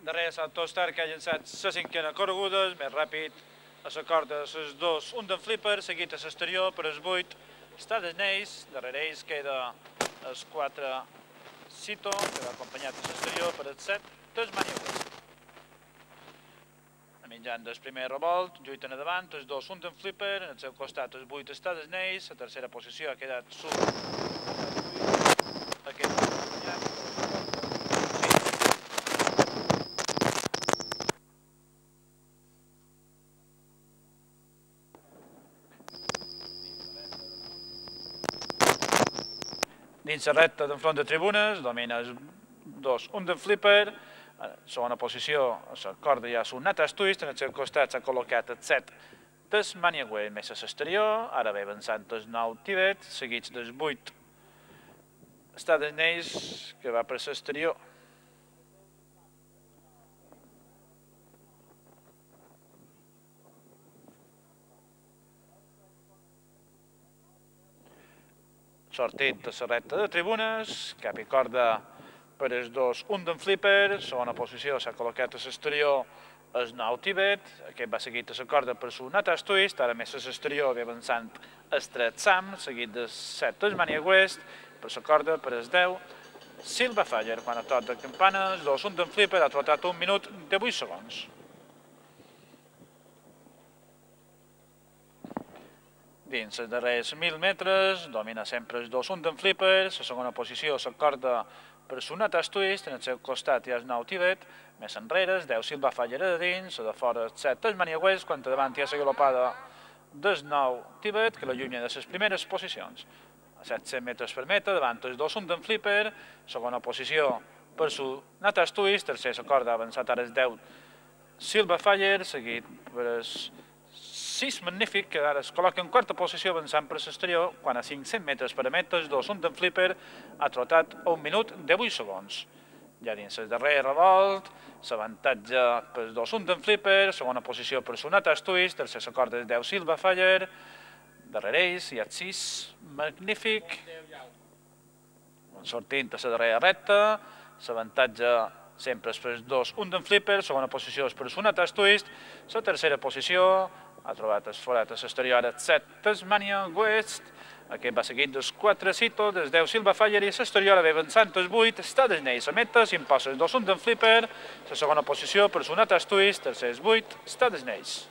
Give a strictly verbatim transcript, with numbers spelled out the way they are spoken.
Darrere Santos Star, que ha llançat la cinquena correguda, més ràpid, a la corda les dos, un d'en Flipper, seguit a l'exterior per els vuit, està d'Sneis, darrere ells queda els quatre Cito, que va acompanyat a l'exterior per els set, Tasmania West. A mitjan del primer revolt, lluiten a davant, els dos, un d'en Flipper, en el seu costat els vuit està d'Sneis, la tercera posició ha quedat sub. Aquest acompanyat. Dins la recta d'enfront de tribunes, domina els dos, un d'en Flipper, segona posició, a la corda hi ha un Natas Twist, en el seu costat s'ha col·locat el set Tasmania West més a l'exterior, ara ve avançant el nou Tibet, seguits dels vuit està d'Sneis, que va per l'exterior. Sortit de la recta de tribunes, cap i corda per els dos, un d'en Flipper, segona posició s'ha col·locat a l'exterior el nou Tibet, aquest va seguit a la corda per el Natas Twist, ara més a l'exterior ve avançant el tres Sam, seguit del set Tasmania West, per la corda per el deu, Silva Faller, quan a tot de campana, el dos, un d'en Flipper, ha trotat un minut de vuit segons. Dins els darrers mil metres, domina sempre els dos, un d'en Flipper, la segona posició la corda per el Natas Twist, en el seu costat hi ha el nou Tibet, més enrere, el deu Silva Faller a dins, la de fora el set Tasmania West, quan a davant hi ha la galopada del nou Tibet, que l'allunya de les primeres posicions. A set-cents metres per metre, davant els dos, un d'en Flipper, segona posició per el Natas Twist, tercer la corda ha avançat ara el deu Silva Faller, seguit per el sis Magnífic, que ara es col·loca en quarta posició avançant per l'exterior, quan a cinc-cents metres per metre, el dos, un d'en Flipper, ha trotat un minut de vuit segons. Ja dins el darrer revolt, l'avantatge per el dos, un d'en Flipper, segona posició per el Natas Twist, tercer la corda del deu Silva Faller, darrere ells hi ha el sis Magnífic, sortint a la darrera recta, l'avantatge sempre és per el dos, un d'en Flipper, segona posició és per el Natas Twist, la tercera posició ha trobat el forat a l'exterior el set Tasmania West, aquest va seguit dels quatre Cito, del deu Silva Faller i a l'exterior ve avançant el vuit, està d'Sneis a meta, s'imposa el dos, un d'en Flipper, la segona posició per el Natas Twist, tercer el vuit, està d'Sneis.